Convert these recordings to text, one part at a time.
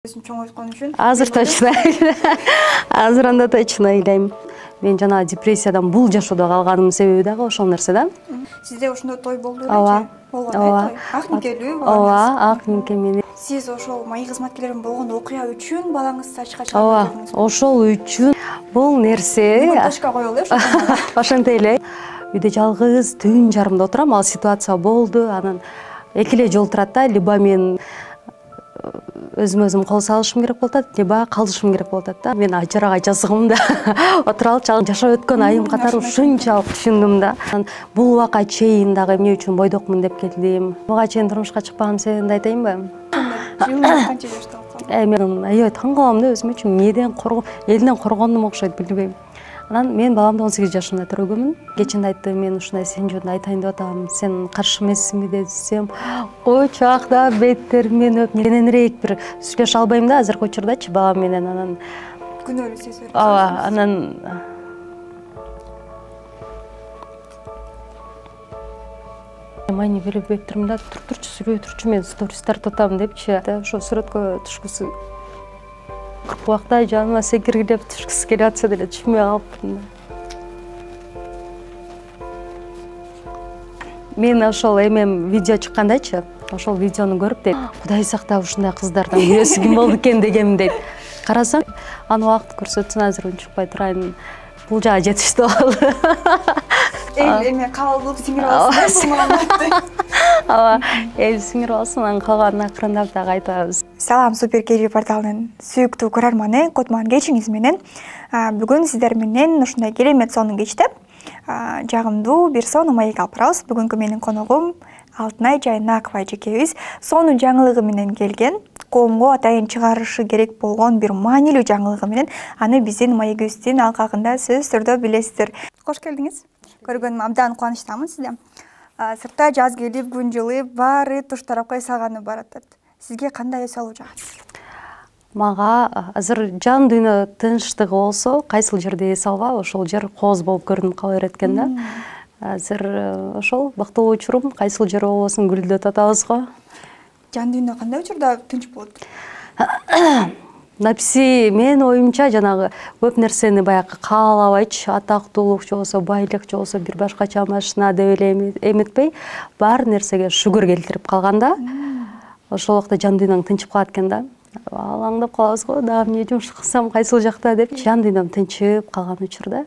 Чоң айткан үчүн азыр точно азыр анда точно ыйлайм. Мен жана депрессиядан бул жашоодо калганымдын себеби дагы ошол нерсе да. Сизде ошондой той болду белечи? Ооба. Болгон ак никелүү Ооба, ак нике менен. Сиз ошол маек кызматкерлеринин болгон окуя үчүн балаңызды ачыкка Ооба, чыгардыңыз. ошол үчүн бул нерсе Ташка коелу ошондо. ошентип эле. Үйдө жалгыз түн жарымда отурам, ал ситуация болду. Анан эки эле жол турат да, либо мен өзүм кол салышым керек болуп атат, либо калышым керек болуп атат да. Мен ажырага жазгым да. Отура алчу, жашап өткөн айым катары ушунчалык түшүндүм да. Бул убакка чейин дагы эмне үчүн бойдокмун деп келдим. Буга чейин турмушка чыкпаган себебимди айтайынбы? Жылыңыз канча жашта болсо? Мен аябай таң калам да өзүм үчүн. Эмнеден элден коргондум окшойт, билбейм. Анан мен баламды 18 жашында төрөгөмүн. Кечинде айтты, мен ушундай сен жөнүндө айтайын деп атам. Сен каршы эмессиңби десем, койчу акта беттеримен өп, кененирээк бир сүйлөшө албайм да азыркы учурдачы балам менен. Анан Күнөөлүү сезип. ооба, анан майни берип беттерим да турчу сүйлөбөй турчу, мен сторис тартып атам депчи. Ошо сүрөткө түшкүсү кырк убакта жаныма секиргилеп түшкүсү келип атса деле түшпөй калыптырмын да. Мен ошол эмем видео чыккандачы, ошол видеону көрүп дейт, Кудай сактап ушундай кыздардан бирөөсү ким болду экен дегем дейт. Карасам, аны убакыт көрсөтсүн, азыр унчукпай турайын. Бул жагы жетиштүү болду. Эме кабыл кылып сиңирип алсың. Ооба, сиңирип алсын, анан калганын акырындап дагы айтабыз. Салам, Супер КЖ порталынын сүйүктүү көрөрманы, Котман кечиңиз менен. Бүгүн сиздер менен ушундай керемет сонун кечте жагымдуу бир сонун маек алып барабыз. Бүгүнкү менин коногум Алтынай Жайнакова эжекебиз сонун жаңылыгы менен келген. Коомго атайын чыгарышы керек болгон бир маанилүү жаңылыгы менен аны биздин маегибиздин алкагында сөзсүз түрдө билесиздер. Кош келдиңиз. Көргөнүмө абдан кубанычтамын сизде. Сыртта жаз келип, күн жылып, баары туш тарапка эс алганы баратат. Сизге кандай эс алуу жагат? Мага азыр жан дүйнө тынчтыгы болсо, кайсыл жерде эс алба, ошол жер кооз болуп көрүнүп кала берет экен да. Азыр ошол бактылуу учурум, кайсыл жер болбосун гүлдөт атабыз го. Жан дүйнө кандай учурда тынч болот? Написи менин оюмча жанагы көп нерсени баягы каалабайчы, атактуулук же болбосо байлык же болбосо бир башкача машина деп эле эметпей, баар нерсеге шүгүр келтирип калганда, ошол убакта жан дүйнөң тынчып калат экен да. Алаңдап калабыз го, дагы эмне жумуш кылсам, кайсыл жакта деп, жан дүйнөм тынчып калган учурда.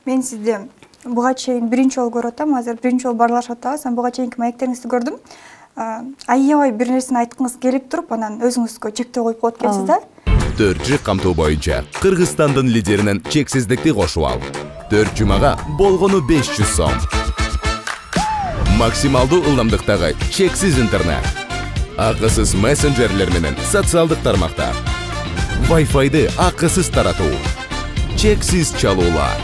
Мен сизди буга чейин биринчи жолу көрүп атам, азыр биринчи жолу баарлашып атабыз. Буга чейинки маектериңизди көрдүм. Аябай бир нерсени айткыңыз келип туруп, анан өзүңүзгө чектөө коюп коет экенсиз да? Төрт камтуу боюнча Кыргызстандын лидеринен чексиздикти кошуп ал. 4 жумага болгону 500 сом. Максималдуу ылдамдыктагы чексиз интернет. Акысыз мессенджерлер менен социалдык тармактар. Wi-Fi'ды акысыз таратуу. Чексиз чалуулар.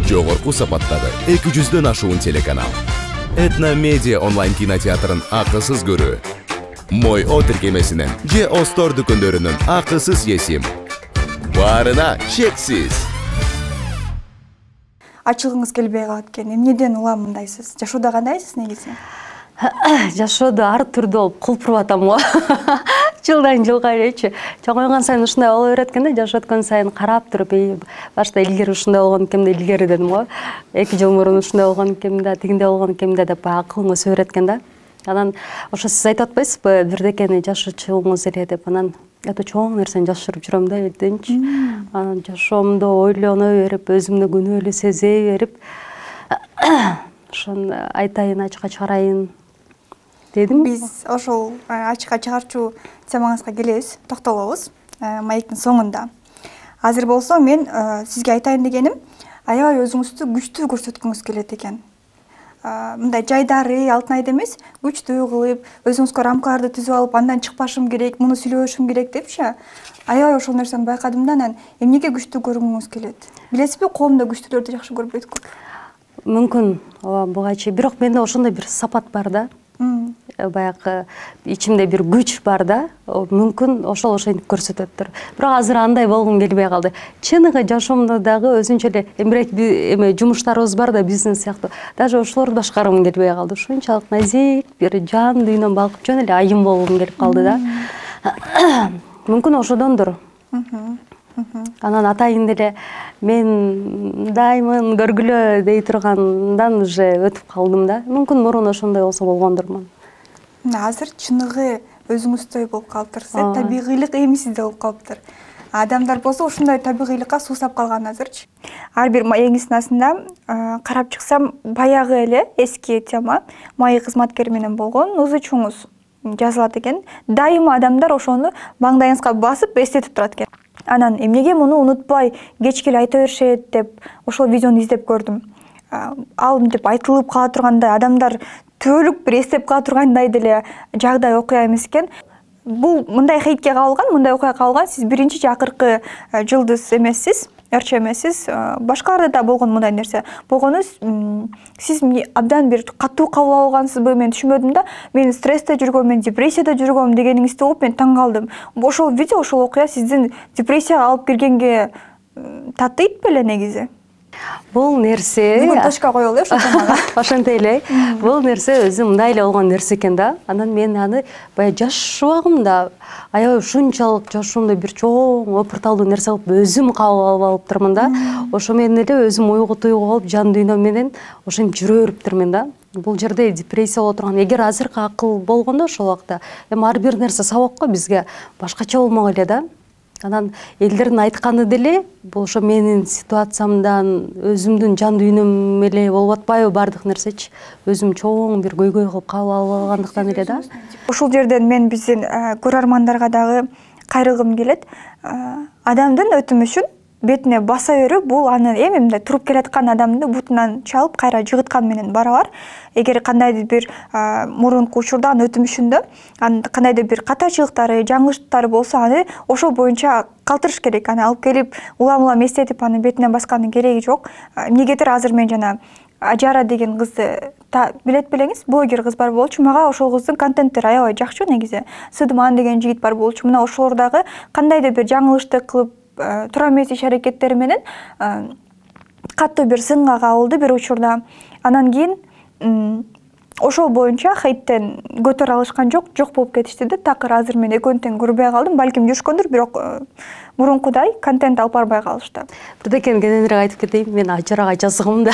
Жогорку сапаттагы 200дөн ашуун телеканал. Этно Медиа онлайн кинотеатрын акысыз көрүү. Мой О тиркемесинен же Остор дүкөндөрүнүн акысыз есим. Баарына чексиз. Ачылгыңыз келбей калат экен. Эмнеден улам мындайсыз? Жашоодо кандайсыз негизи? Жашоодо ар түрдүү болуп кулпуруп атам го. Жылдан жылга элечи. Чоңойгон сайын ушундай боло берет экен да, жашап өткөн сайын карап туруп, башта илгери ушундай болгон экен да, илгери дедим го. 2 жыл мурун ушундай болгон экен да, тигиндей болгон экен да деп акылың өсө берет экен да. Анан ошо сиз айтып атпайсызбы, бирдекени жашачуңуз эле деп, анан өтө чоң нерсени жашырып жүрөм да элденчи. Анан жашоомдо ойлоно берип, өзүмдү күнөөлүү сезе берип, ошон айтайын, ачыкка чыгарайын дедим. Биз ошол ачыкка чыгарчу темаңызга келебиз, токтолобуз маектин соңунда. Азыр болсо мен сизге айтайын дегеним, аябай өзүңүздү күчтүү көрсөткүңүз келет экен. Мындай жайдары, алтынайды эмес, күчтүү кылып, өзүңүзгө рамкаларды түзүп алып, андан чыкпашым керек, муну сүйлөшүм керек депчи. Аябай ошол нерсени байкадым да, анан эмнеге күчтүү көргүңүз келет? Билесизби, коомдо күчтүүлөрдү жакшы көрбөйт көп. Мүмкүн, буга чейин, бирок менде ошондой бир сапат бар да. баягы ичимде бир күч бар да, мүмкүн ошентип көрсөтөттүр. Бирок азыр андай болгум келбей калды. Чыныгы жашоомдо дагы өзүнчө эле эме жумуштарыбыз бар да, бизнес сыяктуу. Даже ошолорду башкаргым келбей калды. Ушунчалык назик бир жан дүйнөм балкып жөн эле айым болгум келип калды да. Мүмкүн ошодондур. Анан атайын деле мен даймын көргүлө дей тургандан уже өтүп калдым да. Мүмкүн мурун ошондой болсо болгондурмун. Азыр чыныгы өзүңүздөй болуп калыптыр. Табигыйлык эми сизде болуп калыптыр. Адамдар болсо ушундай табигыйлыкка суусап калган азырчы. Ар бир маегиңиздин астында карап чыксам, баягы эле эски тема маек кызматкери менен болгон узу чуңуз жазылат экен. Дайыма адамдар ошону маңдайыңызга басып эстетип турат экен. Анан эмнеге муну унутпай кечке эле айта беришет деп ошол видеону издеп көрдүм. Ал мынтип айтылып кала тургандай, адамдар түбөлүк бир эстеп кала тургандай деле жагдай окуя эмес экен. Бул мындай хейтке кабылган, мындай окуяга кабылган. Сиз биринчи же акыркы жылдыз эмессиз, РЧ эмессиз. Башкаларда да болгон мындай нерсе. Болгону сиз абдан бир катуу кабыл алгансызбы, мен түшүнбөдүм да. Мен стрессте жүргөм, мен депрессияда жүргөм дегениңизди угуп мен таң калдым. Ошол видео, ошол окуя сиздин депрессияга алып киргенге татыйт беле негизи? Бул нерсе бүгүн точка коелу ошол темага. Ошентей эле. Бул нерсе өзү мындай эле болгон нерсе экен да. Анан мен аны баягы жаш убагымда аябай ушунчалык жашоомдо бир чоң опурталдуу нерсе кылып өзүм кабыл алып алыптырмын да. Ошо менен эле өзүм уйгу-туйгу болуп жан дүйнөм менен ошентип жүрө бериптирмин да. Бул жерде депрессия боло турган. Эгер азыркы акыл болгондо ошол убакта эми ар бир нерсе сабак го бизге башкача болмок эле да. Анан элдердин айтканы деле бул ошо менин ситуациямдан, өзүмдүн жан дүйнөм эле болуп атпайбы бардык нерсечи. Өзүм чоң бир көйгөй кылып кабыл алып алгандыктан эле да. Ушул жерден мен биздин көрөрмандарга дагы кайрылгым келет. Адамдын өтүмүшүн бетине баса берүү бул аны эми мындай туруп келаткан адамды бутунан чалып кайра жыгыткан менен барабар. Эгер кандайдыр бир мурунку учурда анын өтүмүшүндө кандайдыр бир катачылыктары, жаңылыштары болсо аны ошол боюнча калтырыш керек. Аны алып келип улам эстетип аны бетине баскандын кереги жок. Эмнегедир азыр мен жана Ажара деген кызды билет белеңиз, блогер кыз бар болчу. Мага ошол кыздын контенттери аябай жакчу негизи. Сыдыман деген жигит бар болчу. Мына ошолор дагы кандайдыр бир жаңылышты кылып тура эмес иш-аракеттери менен катуу бир сынга кабылды бир учурда. Анан кийин ошол боюнча хейттен көтөрө алышкан жок болуп кетишти да. Такыр азыр мен экөөнү тең көрбөй калдым. Балким жүрүшкөндүр, бирок мурункудай контент алып барбай калышты. Бирдекени кененирээк айтып кетейин, мен Ажарага жазгым да.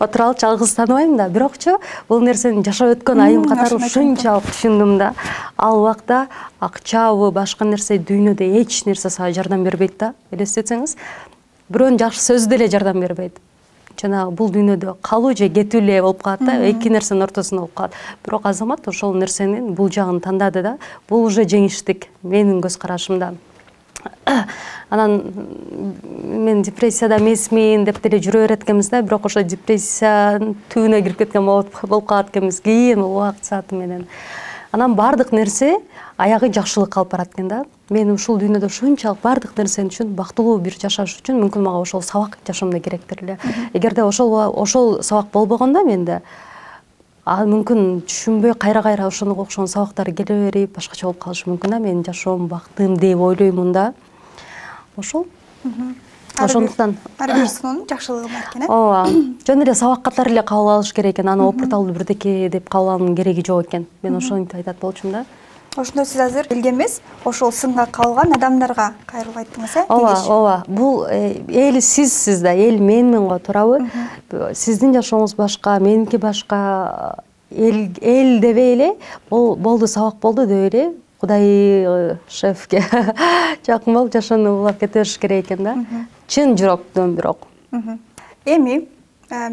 Отуралык жалгыз тааныбайм да, бирокчу бул нерсени жашап өткөн айым катары ушунчалык түшүндүм да. Ал убакта акчабы, башка нерсе дүйнөдө эч нерсе сага жардам бербейт да. Элестетсеңиз, бирөөнүн жакшы сөзү деле жардам бербейт. Жана бул дүйнөдө калуу же кетүү эле болуп калат да, эки нерсенин ортосунда болуп калат. Бирок азамат ошол нерсенин бул жагын тандады да. Бул уже жеңиштик менин көз карашымда. Анан мен депрессияда эмесмин деп деле жүрө берет экенбиз да, бирок ошо депрессиянын түбүнө кирип кеткен болуп калат экенбиз кийин убакыт сааты менен. Анан бардык нерсе аягы жакшылыкка алып барат экен да. Мен ушул дүйнөдө ушунчалык бардык нерсени үчүн бактылуу бир жашаш үчүн мүмкүн мага ошол сабак жашоомдо керектир эле. Эгерде ошол сабак болбогондо менде мүмкүн түшүнбөй кайра ошого окшогон сабактар келе берип башкача болуп калышы мүмкүн да. Менин жашоом бактым деп ойлоймун да. Ошол. Ошондуктан ар бир сыноонун жакшылыгы бар экен, ооба. Жөн эле сабак катары эле кабыл алыш керек экен. Аны опурталдуу бирдеке деп кабыл алуунун кереги жок экен. Мен ошентип айтат болчумун да. Ошондо сиз азыр элге эмес, ошол сынга кабылган адамдарга кайрылып айттыңыз, э? Ооба. Бул эл сизсиз да, эл менмин го, туурабы? Сиздин жашооңуз башка, меники башка. Эл дебей эле, болду сабак болду деп эле Кудай шефке жакын болуп жашоону улап кете бериш керек экен да. Чын жүрөктөн бирок. Эми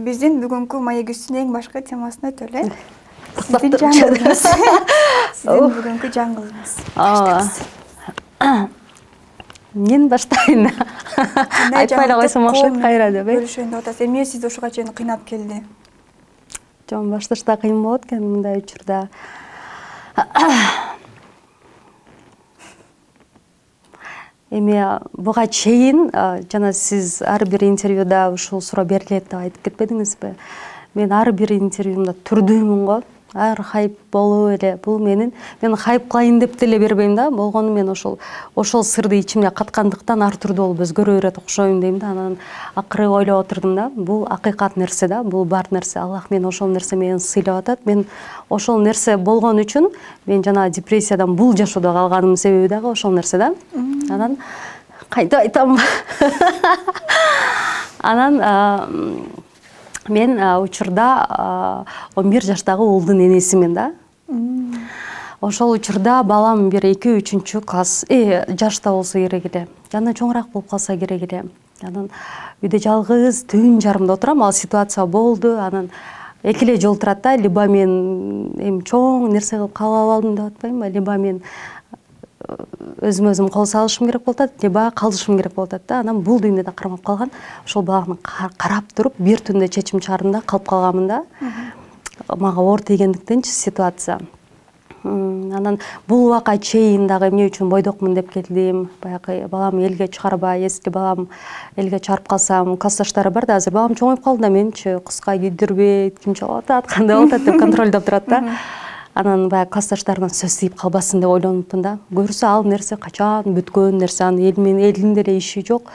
биздин бүгүнкү маегибиздин эң башкы темасына өтөлү, э? Сиздин жаңылыгыңыз. Сиздин бүгүнкү жаңылыгыңыз. Мен баштайын. Айтпай эле койсом окшойт кайра деп, э? Бөлүшөйүн деп атасыз. Эмне сизди ушуга чейин кыйнап келди? Жон башташта кыйын болот экен мындай учурда. Эми буга чейин жана сиз ар бир интервьюда ушул суроо берилет деп айтып кетпедиңизби? Мен ар бир интервьюмда түрдүүмүн го. ар хайп болуп эле бул мен хайп кылайын деп деле бербейм да. Болгону мен ошол сырды ичимде каткандыктан ар түрдүү болуп өзгөрө берет окшойм дейм да. Анан акыры ойлоп отурдум да, бул акыйкат нерсе да, бул бар нерсе. Аллах мен ошол нерсе менен сыйлап атат. Мен ошол нерсе болгон үчүн мен жана депрессиядан бул жашоодо калганымдын себеби дагы ошол нерсе да. Анан кантип айтам? Анан мен учурда 11 жаштагы уулдун энесимин да. Ошол учурда балам бир 2-3 класс жашта болсо керек эле. Жана чоңураак болуп калса керек эле. Анан үйдө жалгыз түн жарымда отурам. Ал ситуация болду. Анан эки эле жол турат да. Либо мен эми чоң нерсе кылып кабыл алдым деп атпаймынбы, либо мен өзүм кол салышым керек болуп атат, либо калышым керек болуп атат да. Анан бул дүйнөдө кармап калган. Ошол баланы карап туруп бир түндө чечим чыгардым да, калып калганмын да. Мага оор тийгендиктенчи ситуация. Анан бул убакка чейин дагы эмне үчүн бойдокмун деп келдим. Баягы балам элге чыгарбай, если балам элге чыгарып калсам, классташтары бар да, азыр балам чоңоюп калды да, менчи кызга кийдирбейт, ким чалып атат, кандай болуп атат деп контролдоп турат да. Анан баягы классташтарынан сөз тийип калбасын деп ойлонупмун да. Көрсө ал нерсе качан бүткөн нерсе, анын элдин деле иши жок.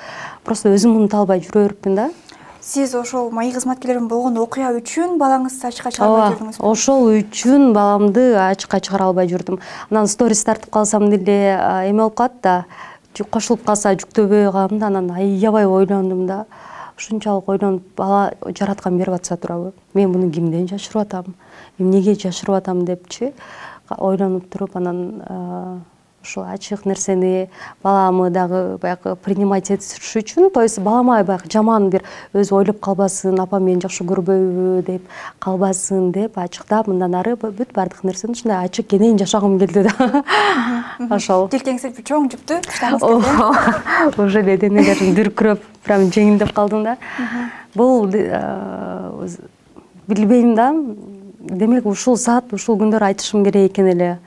Просто өзүм унута албай жүрө берипмин да. Сиз ошол маи кызматкерлердин болгон окуя үчүн балаңызды ачыкка чыгара албай жүрдүңүзбү? Ошол үчүн баламды ачыкка чыгара албай жүрдүм. Анан сторис тартып калсам деле эме болуп калат да, кошулуп калса жүктөбөй калам да. Анан аябай ойлондум да. Ушунчалык ойлонуп, бала жараткан берип атса турабы? Мен муну кимден жашырып атам? Эмнеге жашырып атам депчи ойлонуп туруп, анан ошол ачык нерсени баламы дагы баягы принимать этиш үчүн, то есть балама баягы жаман бир өзү ойлоп калбасын, апам мени жакшы көрбөйбү деп калбасын деп ачыктап, мындан ары бүт баардык нерсени ушундай ачык кенен жашагым келди да. Ошол желкеңизде чоң жүктү таштагыңыз келди. Уже эле денелерим дүркүрөп, прям жеңилдеп калдым да. Бул билбейм да. Демек ушул саат, ушул күндөр айтышым керек экен эле.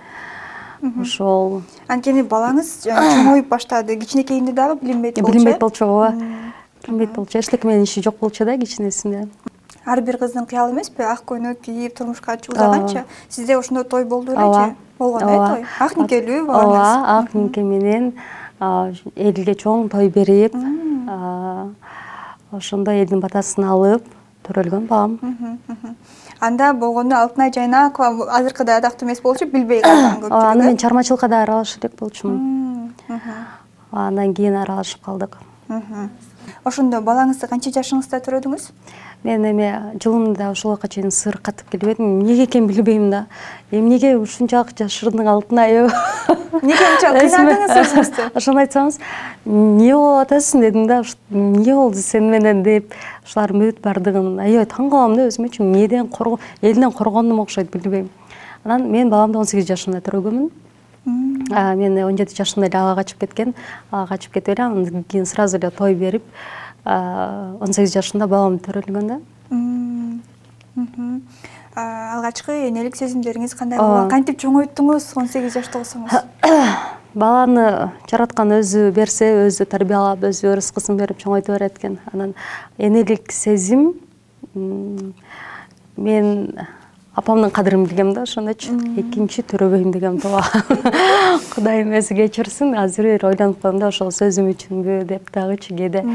Ошол. Анткени балаңыз чоңоюп баштады. Кичинекейинде дагы билинбейт болчу. Билинбейт болчу, ооба. Билинбейт болчу. Эчтеке менен иши жок болчу да кичинесинде. Ар бир кыздын кыялы эмеспи? Ак көйнөк кийип, турмушка чыгып узаганча. Сизде ошондой той болду белечи? Болгон той. Ак никелүү балаңыз. Ооба, ак нике менен элге чоң той берип, ошондой элдин батасын алып төрөлгөн балам. Анда болгондо Алтынай Жайнакова азыркыдай адактуу эмес болчу, билбей калган көпчүлүк. Аны мен чармачылыкка да аралашып элек болчумун. Андан кийин аралашып калдык. Ошондо балаңызды канча жашыңызда төрөдүңүз? Мен эме жылымда ошолго чейин сыр катып келбедим. Эмнеге экенин билбейм да. Эмнеге ушунчалык жашырдың Алтынай? Эмнеге ушунчалык кыйнадыңыз өзүңүздү? Ошону айтсаңыз, эмне болуп атасың дедим да. Эмне болду сен менен деп, ушулардын бүт бардыгын аябай таң калам да өзүм үчүн. Эмнеден элден коргондум окшойт, билбейм. Анан мен баламды 18 жашымда төрөгөнмүн. Мен 17 жашымда эле ага качып кеткен. Ага качып кетип эле андан кийин сразу эле той берип, 18 жашында балам төрөлгөн да. Алгачкы энелик сезимдериңиз кандай болгон? Кантип чоңойттуңуз 18 жашта болсоңуз? Баланы жараткан өзү берсе, өзү тарбиялап, өзү рызкысын берип чоңойто берет экен. Анан энелик сезим мен апамдын кадырын билгем да, ошондочу. Экинчи төрөбөйм дегем тууга. Кудайым өзү кечирсин, азыр эле ойлонуп калдым да, ошол сөзүм үчүнбү деп дагычы кээде.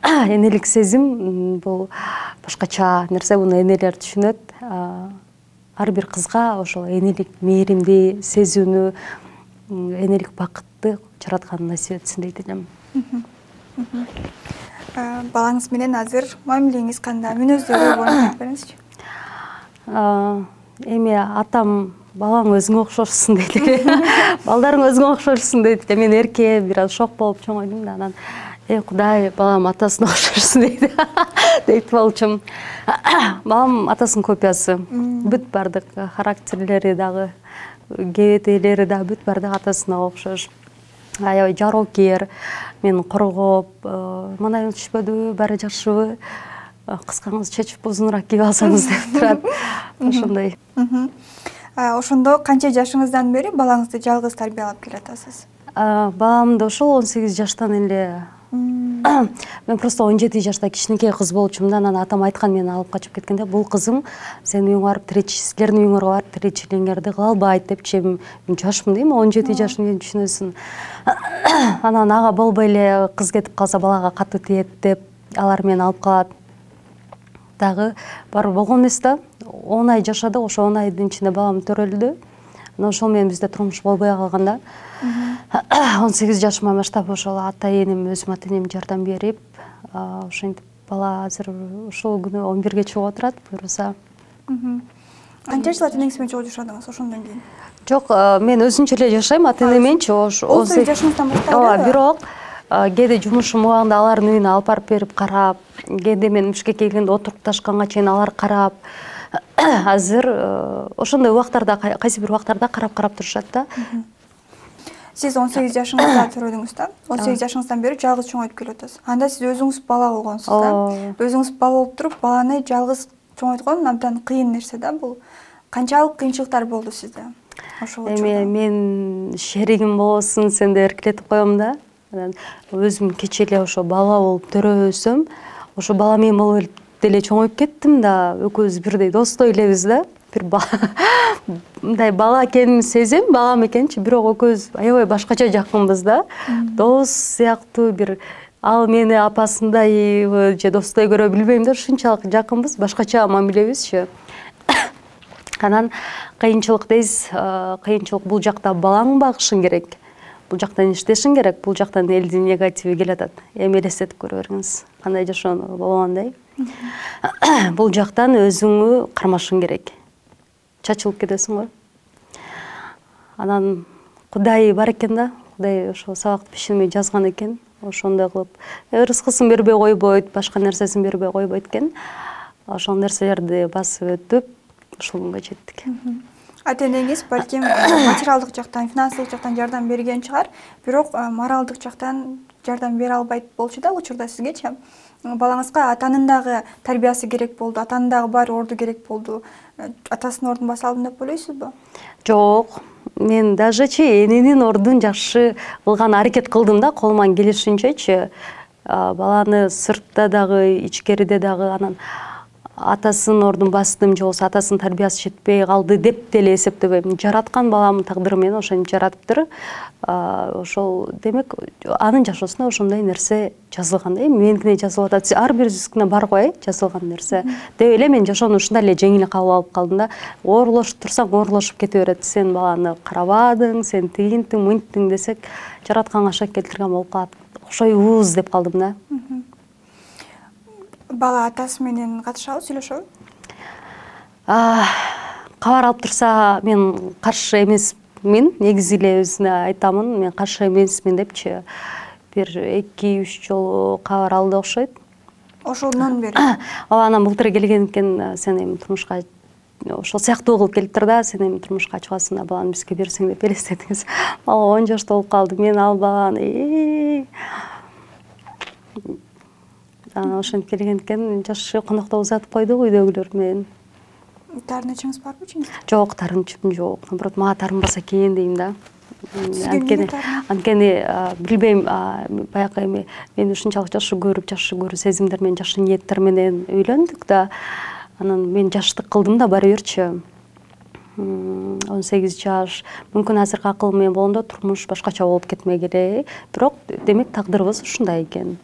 Энелик сезим бул башкача нерсе, буну энелер түшүнөт. Ар бир кызга ошол энелик мээримди сезүүнү, энелик бакытты жараткан насип этсин дейт элем. Балаңыз менен азыр мамилеңиз кандай? Мүнөздөрү боюнча айтып бериңизчи. Эми атам балаң өзүңө окшошсуң дейт эле. Балдарың өзүңө окшошсуң дейт эле. Мен эрке бир аз шок болуп чоңойдум да, анан Кудай балам атасына окшошсун дейт. Дейт болчум. Балам атасынын копиясы. Бүт бардык характерлери дагы, кебетелери дагы бүт бардык атасына окшош. Аябай жароокер, мени коргоп, мындай түшпөдүбү, баары жакшыбы? Кыскаңыз чечип узунураак кийип алсаңыз деп турат. Ошондой. Ошондо канча жашыңыздан бери балаңызды жалгыз тарбиялап келатасыз? Баламды ошол 18 жаштан эле Мен просто 17 жашта кичинекей кыз болчумун да, анан атам айткан, мени алып качып кеткенде, бул кызың сенин үйүңө барып силердин үйүңөргө барып тиричилиңерди кыла албайт депчи. Мен жашмын дейм, 17 жашым, эми түшүнөсүң. Анан ага болбой эле кыз кетип калса балага катуу тиет деп алар мени алып калат. Дагы бар болгон эмес да. 10 ай жашадык, ошо 10 айдын ичинде балам төрөлдү. Анан ошол менен бизде турмуш болбой калган да. 18 жашыма баштап ошол ата-энем, өзүм ата-энем жардам берип, ошентип бала азыр ошол күнү 11-ге чыгып отурат, буюрса. Канча жыл ата-энеңиз менен чогуу жашадыңыз ошондон кийин? Жок, мен өзүнчө эле жашайм ата-энем мененчи. 18 жашыңыздан баштап. Ооба, бирок кээде жумушум убагында алардын үйүнө алып барып берип карап, кээде мен Бишкекке келгенде отурукташканга чейин алар карап. Азыр ошондой убактарда, кайсы бир убактарда карап турушат да. Сиз 18 жашыңызда төрөдүңүз да. 18 жашыңыздан бери жалгыз чоңойтуп келип атасыз. Анда сиз өзүңүз бала болгонсуз да. Өзүңүз бала болуп туруп, баланы жалгыз чоңойткон абдан кыйын нерсе да бул. Канчалык кыйынчылыктар болду сизде? Ошол учурда. Мен шеригим болосуң сен деп эркелетип коем да. Өзүм кече эле ошо бала болуп төрөбөсөм, ошо бала менен болуп деле чоңоюп кеттим да. Экөөбүз бирдей достой элебиз да. Бир мындай бала экенин сезем, балам экенчи, бирок экөөбүз аябай башкача жакынбыз да. Дос сыяктуу бир ал мени апасындай же достой көрө билбейм да, ушунчалык жакынбыз, башкача мамилебизчи. Анан кыйынчылык дейсиз, кыйынчылык бул жакта балаңды багышың керек. Бул жактан иштешиң керек, бул жактан элдин негативи келатат. Эми элестетип көрө бериңиз, кандай жашоону болгондой. Бул жактан өзүңү кармашың керек. Чачылып кетесиң го. Анан Кудай бар экен да, Кудай ошо сабакты биширмей жазган экен. Ошондой кылып, рызкысын бербей койбойт, башка нерсесин бербей койбойт экен. Ошол нерселерди басып өтүп, ушул күнгө жеттик. Ата-энеңиз балким материалдык жактан, финансылык жактан жардам берген чыгар, бирок моралдык жактан жардам бере албайт болчу да учурда сизгечи. Балаңызга атанын дагы тарбиясы керек болду, атанын дагы бар орду керек болду. Атасынын ордун баса алдым деп ойлойсузбу? Жок, мен дажечи эненин ордун жакшы кылган аракет кылдым да, колуман келишинчечи. Баланы сыртта дагы, ичкериде дагы, анан атасынын ордун бастым, же болбосо атасынын тарбиясы жетпей калды деп деле эсептебейм. Жараткан баламдын тагдыры менен ошентип жаратыптыр. Ошол демек анын жашоосунда ошондой нерсе жазылган да. Меникине жазылып атат. Ар бирибиздикине бар го, жазылган нерсе. Деп эле мен жашоону ушундай эле жеңил кабыл алып калдым да. Оорлошуп турсаң, оорлошуп кете берет. Сен баланы карабадың, сен тигинтиң, мынттиң десек, жаратканга шак келтирген болуп калат. Окшойбуз деп калдым да. Бала атасы менен катышабы, сүйлөшөбү? Кабар алып турса, мен каршы эмесмин. Негизи эле өзүнө айтамын, мен каршы эмесмин депчи. Бир 2-3 жолу кабар алды окшойт. Ошондон бери. Анан былтыр келген экен, сен эми турмушка ошол сыяктуу кылып келиптир да, сен эми турмушка чыгасың да, баланы бизге берсең деп элестетиңиз. Бала 10 жашта болуп калды. Мен ал баланы ошентип келген экен, жашы коноктоп узатып койдук үйдөгүлөр менен. Тарынычыңыз барбы ичиңизде? Жок, тарынычым жок. Наоборот, мага тарынбаса экен дейм да. Анткени билбейм, баягы эми мен ушунчалык жакшы көрүү сезимдер менен, жакшы ниеттер менен үйлөндүк да. Анан мен жаштык кылдым да баары бирчи. 18 жаш. Мүмкүн азыркы акыл менен болгондо турмуш башкача болуп кетмек эле. Бирок демек тагдырыбыз ушундай экен.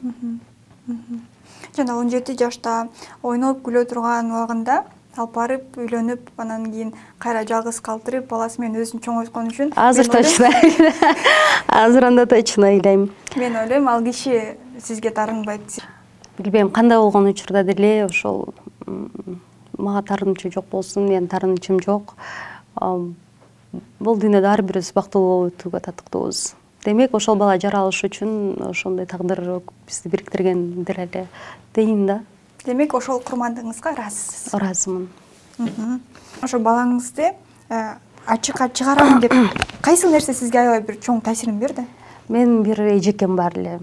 Жана 17 жашта ойноп күлө турган убагында алып барып үйлөнүп, анан кийин кайра жалгыз калтырып, баласы менен өзүн чоңойткон үчүн азыр точно. Азыр анда точно ойлойм. Мен ойлойм, ал киши сизге тарынбайт. Билбейм, кандай болгон учурда деле ошол мага тарынычы жок болсун, мен тарынычым жок. Бул дүйнөдө ар бирибиз бактылуу болуп өтүүгө татыктуубуз. Демек, ошол бала жаралыш үчүн ошондой тагдыр бизди бириктирген деле дейм да. Демек, ошол курмандыгыңызга ыраазысыз? Ыраазымын. Ошо балаңызды ачыкка чыгарам деп кайсы нерсе сизге аябай бир чоң таасирин берди? Мен бир эжекем бар эле.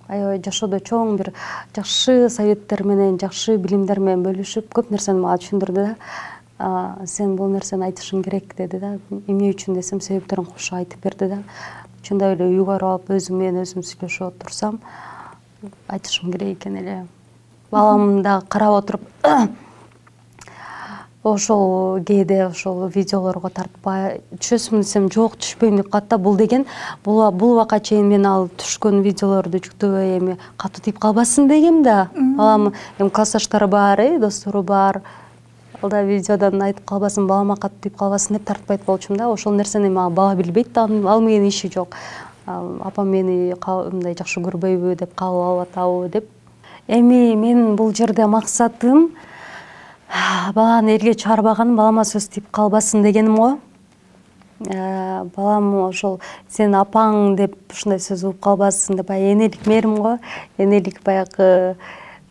Аябай жашоодо чоң бир жакшы советтер менен, жакшы билимдер менен бөлүшүп, көп нерсени мага түшүндүрдү да. Сен бул нерсени айтышың керек деди да. Эмне үчүн десем, себептерин кошо айтып берди да. чындап эле үйгө барып алып өзүм менен өзүм сүйлөшүп отурсам айтышым керек экен эле. Балам да карап отуруп ошол кээде ошол видеолорго тартпай түшөсүм десем жок түшпөйм деп калат да. Бул деген бул убакка чейин мен ал түшкөн видеолорду жүктөбөй эми катуу тийип калбасын дегем да. Балам эми классташтары бар, достору бар. Ал да видеодон айтып калбасын, балама катуу тийип калбасын деп тартпайт болчумун да. Ошол нерсени эми бала билбейт да, ал менин иши жок. Апам мени мындай жакшы көрбөйбү деп, кабыл алып атабы деп. Эми менин бул жерде максатым баланы элге чыгарбаган, балама сөз тийип калбасын дегеним го. Балам ошол сен апаң деп ушундай сөз угуп калбасын деп, энелик мээрим го. Энелик баягы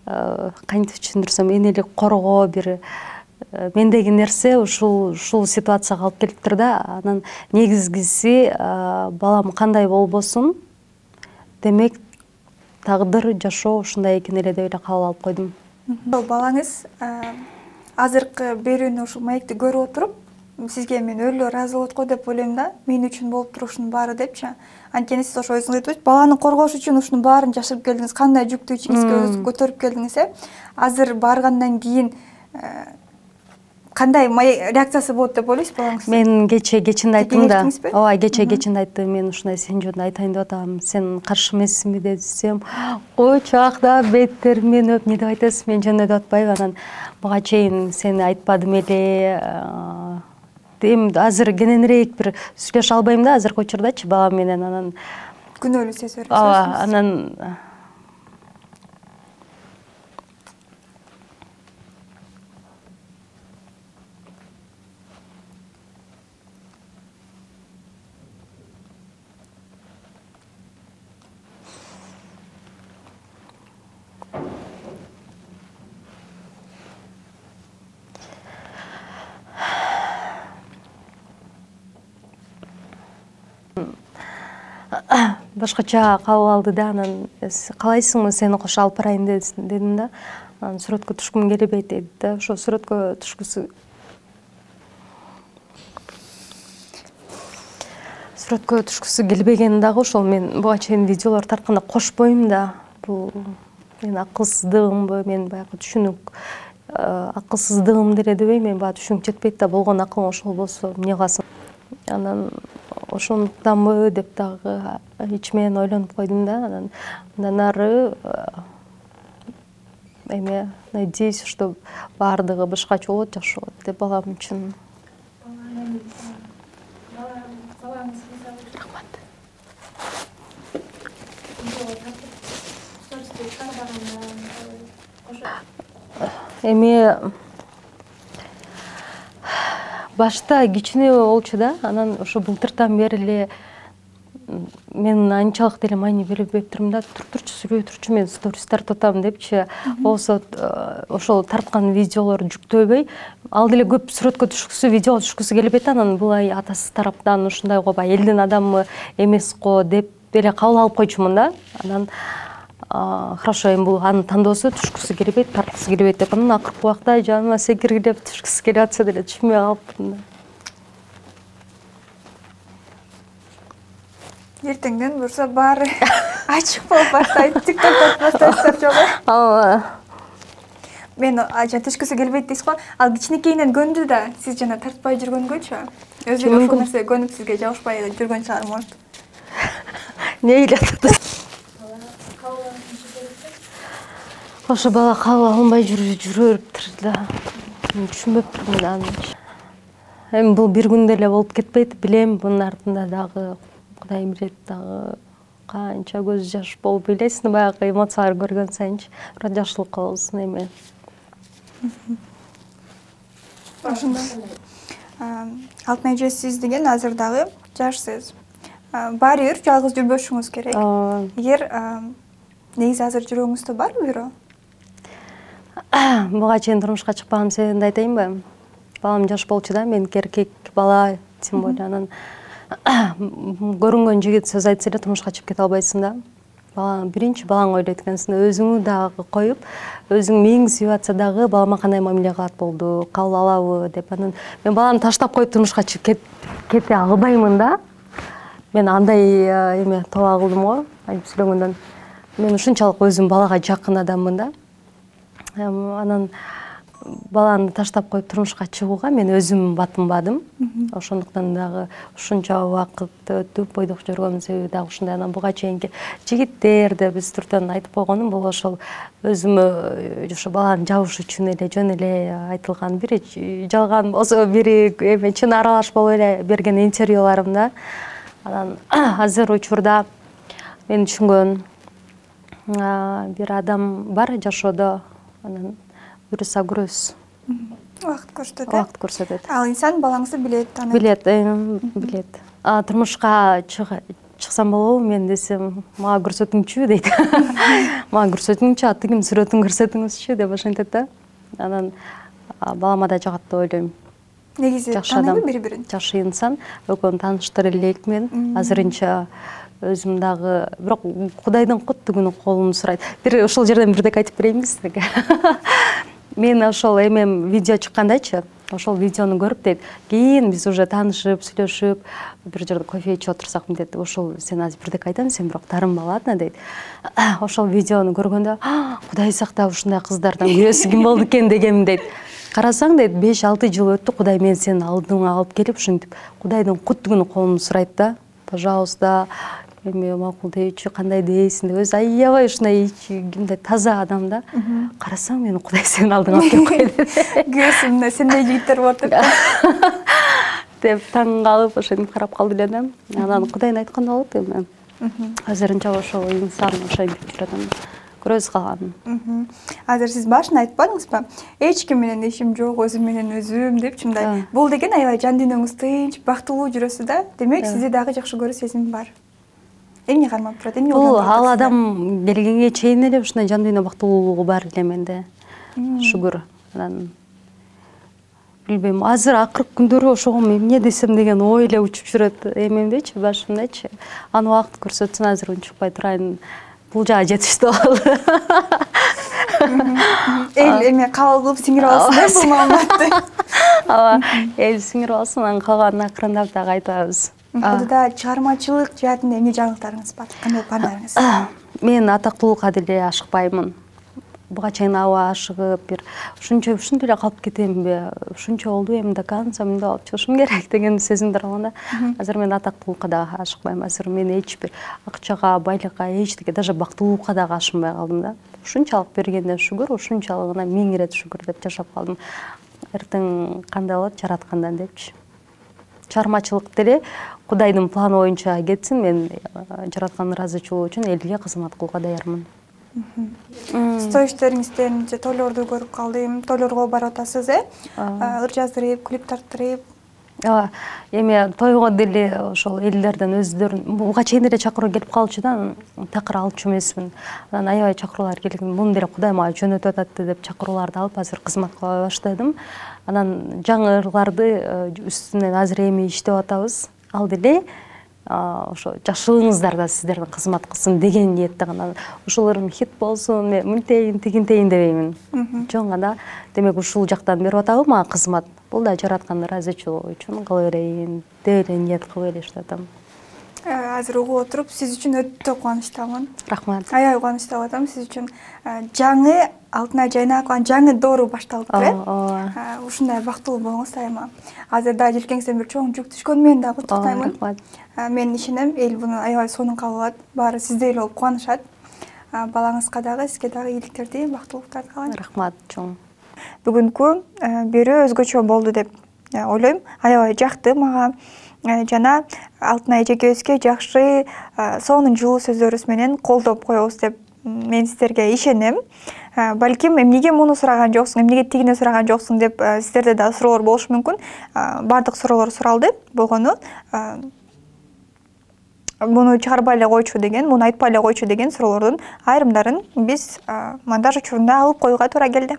кантип түшүндүрсөм, энелик коргоо бир мендеги нерсе ушул ситуацияга алып келиптир да. Анан негизгиси балам кандай болбосун, демек тагдыр, жашоо ушундай экен эле деп эле кабыл алып койдум. Балаңыз азыркы берүүнү ушул маекти көрүп отуруп, сизге мен өлө ыраазы болот го деп ойлойм да. Мен үчүн болуп турушунун баары депчи. Анткени сиз ошо өзүңүз айтып, баланы коргош үчүн ушунун баарын жашырып келдиңиз, кандай жүктү ичиңизге өзү көтөрүп келдиңиз. Азыр баргандан кийин кандай реакциясы болот деп ойлойсуз балаңыз? Мен кечинде айттым да. Ооба, кечинде айттым. Мен ушундай сен жөнүндө айтайын деп атам. Сен каршы эмессиңби десем, койчу акта беттер мен эмне деп айтасыз, мен жөнүндө деп атпайбы. Анан буга чейин сени айтпадым эле. Эми азыр кененирээк бир сүйлөшө албайм да азыркы учурдачы балам менен. Анан күнөөлүү сезип бересиз. Ооба, анан башкача кабыл алды да. Анан каалайсыңбы сени кошо алып барайын дедим да. Анан сүрөткө түшкүм келбейт деди да. Ошо сүрөткө түшкүсү келбеген дагы ошол мен буга чейин видеолор тартканда кошпойм да. Бул менин акылсыздыгымбы, мен баягы түшүнүк акылсыздыгым деле дебейм, мен баягы түшүнүк жетпейт да. Болгон акылың ошол болсо эмне кыласың? Анан ошондуктанбы деп дагы ичимен ойлонуп койдум да. Андан ары эме, надеюсь, что баардыгы башкача болот, жакшы болот деп балам үчүн. Эми башта кичине болчу да. Анан ошо былтыртан бери эле мен анчалык деле маани бербептирмин да. Турчу сүйлөй турчу, мен сторис тартып атам депчи. Болсо ошол тарткан видеолорду жүктөбөй, ал деле көп сүрөткө түшкүсү, видеого түшкүсү келбейт. Анан булай атасы тараптан ушундай го, баягы элдин адамы эмес го деп эле кабыл алып койчумун да. Анан хорошо, эми бул анын тандоосу, түшкүсү келбейт, тарткысы келбейт деп. Анан акыркы убакта жаныма секиргилеп түшкүсү келип атса деле түшпөй калыптыр да. Эртеңден бурса баары ачык болуп баштайт, тикток тартып баштайсыздар жокпу? Ооба. Мен түшкүсү келбейт дейсиз го. Ал кичинекейинен көндү да, сиз жана тартпай жүргөнгөчү. Өзү ошол нерсе көнүп сизге жабышпай жүргөн чыгар, может. Не ойлоп ошо бала кабыл алынбай жүрөптүр да. Түшүнбөптүрмүн аны. Эми бул бир күндө эле болуп кетпейт, билем. Мунун артында дагы Кудай билет, дагы канча көз жаш болуп билесиң, баягы эмоциялар көргөн сайынчы жакшылык болсун эми. Ошондо Алтын эже, сиз деген азыр дагы жашсыз. Баары бир жалгыз жүрбөшүңүз керек. Эгер негизи азыр жүрөгүңүздө барбы бирөө? Буга чейин турмушка чыкпаган себебимди айтайынбы? Балам жаш болчу да, меники эркек бала, тем более. Анан көрүнгөн жигит сөз айтса эле турмушка чыгып кете албайсың да. Биринчи балаң ойлойт экенсиң, өзүңү дагы коюп, өзүң мээң сүйүп атса дагы балама кандай мамиле кылат болду, кабыл алабы деп. Анан мен баланы таштап коюп турмушка чыгып кете албаймын да. мен андай эме тоба кылдым го айтып сүйлөгөндөн. Мен ушунчалык өзүм балага жакын адаммын да. Анан баланы таштап коюп турмушка чыгууга мен өзүм батынбадым. Ошондуктан дагы ушунча убакыт өтүп бойдок жүргөнүн себеби дагы ушундай. Анан буга чейинки жигиттер деп биз түртөн айтып койгонум бул ошол өзүмө ошо баланы жабыш үчүн эле жөн эле айтылган, бири жалган болсо бири эме чын аралаш болуп эле берген интервьюларым да. Анан азыр учурда мен түшүнгөн бир адам бар жашоодо, анан буюрса күрөс. Убакыт көрсөтөт. Убакыт көрсөтөт. Ал инсан балаңызды билет, таанат. Билет. Турмушка чыксам болобу мен десем, мага көрсөтүңчү дейт. Мага көрсөтүңчү, атыгым сүрөтүн көрсөтүңүзчү деп ошентет да. Анан балама да жагат деп ойлойм. Негизи тааныйбы бири-бирин? Жакшы инсан, экөөнү тааныштыра элекмин. Азырынча өзүм дагы, бирок Кудайдын куттугуну колумду сурайт. Бир ошол жерден бирдек айтып берейинби сизге? Мен ошол эмем видео чыккандачы, ошол видеону көрүп дейт. Кийин биз уже таанышып, сүйлөшүп, бир жерде кофе ичип отурсак дейт. Ошол сен азыр бирдек айтам, сен бирок тарынма, ладно дейт. Ошол видеону көргөндө, Кудай сактап ушундай кыздардан күрөсү ким болду экен дегем дейт. Карасаң дейт, 5-6 жыл өттү, Кудай мен сени алдыңа алып келип, ушинтип Кудайдын куттугуну колумду сурайт да. Пожалуйста, эме макул дейчү, кандай дейсиң деп өзү аябай ушундай кимдей таза адам да. Карасаң мени Кудай сенин алдыңа алып келип койду. Күрөсүмдө сендей жигиттер болот деп таң калып ошентип карап калды эле да. Анан Кудайдын айтканы болот эми. Азырынча ошол инсан ошентип жүрөт. Көрөбүз калганын. Азыр сиз башында айтпадыңызбы? Эч ким менен ишим жок, өзүм менен өзүм депчи мындай. Бул деген аябай жан дүйнөңүз тынч, бактылуу жүрөсүз да. Демек сизде дагы жакшы көрүү сезим бар. Эмне кармап турат? Эмне бул ал адам келгенге чейин эле ушундай жан дүйнө бактылуулугу бар эле менде. Шүгүр. Анан билбейм, азыр акыркы күндөрү ошого эмне десем деген ой эле учуп жүрөт эмемдечи, башымдачы. Аны убакыт көрсөтсүн, азыр унчукпай турайын. Бул жагы жетиштүү болду. Эл эме кабыл кылып сиңирип алсын да бул маалыматты. Ооба, эл сиңирип алсын, анан калганын акырындап дагы айтабыз. Буда чыгармачылык жаатында эмне жаңылыктарыңыз бар? Кандай пландарыңыз? Мен атактуулукка деле ашыкпаймын. Буга чейин аба ашыгып, бир ушунча эле калып кетемби? Ушунча болду, эми до конца мындай болуп чыгышым керек деген сезимдер болгон да. Азыр мен атактуулукка дагы ашыкпайм. Азыр мен эч бир акчага, байлыкка, эчтеке, даже бактылуулукка дагы ашынбай калдым да. Ушунчалык бергенде шүгүр, ушунчалыгына 1000 ирет шүгүр деп жашап калдым. Эртең кандай болот жараткандан депчи. Чыгармачылык деле Кудайдын планы боюнча кетсин. Мен жараткандын ыраазычылыгы үчүн элге кызмат кылууга даярмын. Стоиштериңизден тойлорду көрүп калдым. Тойлорго барып атасыз, ыр жаздырып, клип тарттырып. Ооба, эми тойго деле ошол элдерден өздөрүн буга чейин эле чакыруу келип калчу да, такыр алчу эмесмин. Анан аябай чакыруулар келген. Муну деле Кудай мага жөнөтүп атат деп чакырууларды алып азыр кызмат кыла баштадым. Анан жаңы ырларды үстүнөн азыр эми иштеп атабыз. Ал деле ошо жашылыңыздар да сиздердин кызмат кылсын деген ниетте гана. Ушул ырым хит болсун, мен мынтейин, тигинтейин дебеймин. Жөн гана демек ушул жактан берип атабы мага кызмат. Бул да жараткандын ыраазычылыгы үчүн кыла берейин деп эле ниет кылып эле иштеп атам. Азыр угуп отуруп, сиз үчүн өтө кубанычтамын. Рахмат. Аябай кубанычтап атам сиз үчүн. Жаңы алтына жайнап калган жаңы доору башталыптыр, э? Ушундай бактылуу болуңуз дайыма. Азыр да желкеңизден бир чоң жүк түшкөнү менен дагы куттуктаймын. Рахмат. Мен ишенем, эл буну аябай сонун кабыл алат. Баары сиздей эле болуп кубанышат. Балаңызга дагы, сизге дагы ийгиликтерди, бактылуулуктарды каалайм. Рахмат чоң. Бүгүнкү берүү өзгөчө болду деп ойлойм. Аябай жакты мага. Жана Алтынай эжекебизге жакшы, сонун жылуу сөздөрүңүз менен колдоп коебуз деп мен сиздерге ишенем. Балким эмнеге муну сураган жоксуң, эмнеге тигини сураган жоксуң деп сиздерде да суроолор болушу мүмкүн. Бардык суроолор суралды болгону. Муну чыгарбай эле койчу деген, муну айтпай эле койчу деген суроолордун айрымдарын биз монтаж учурунда алып коюуга туура келди.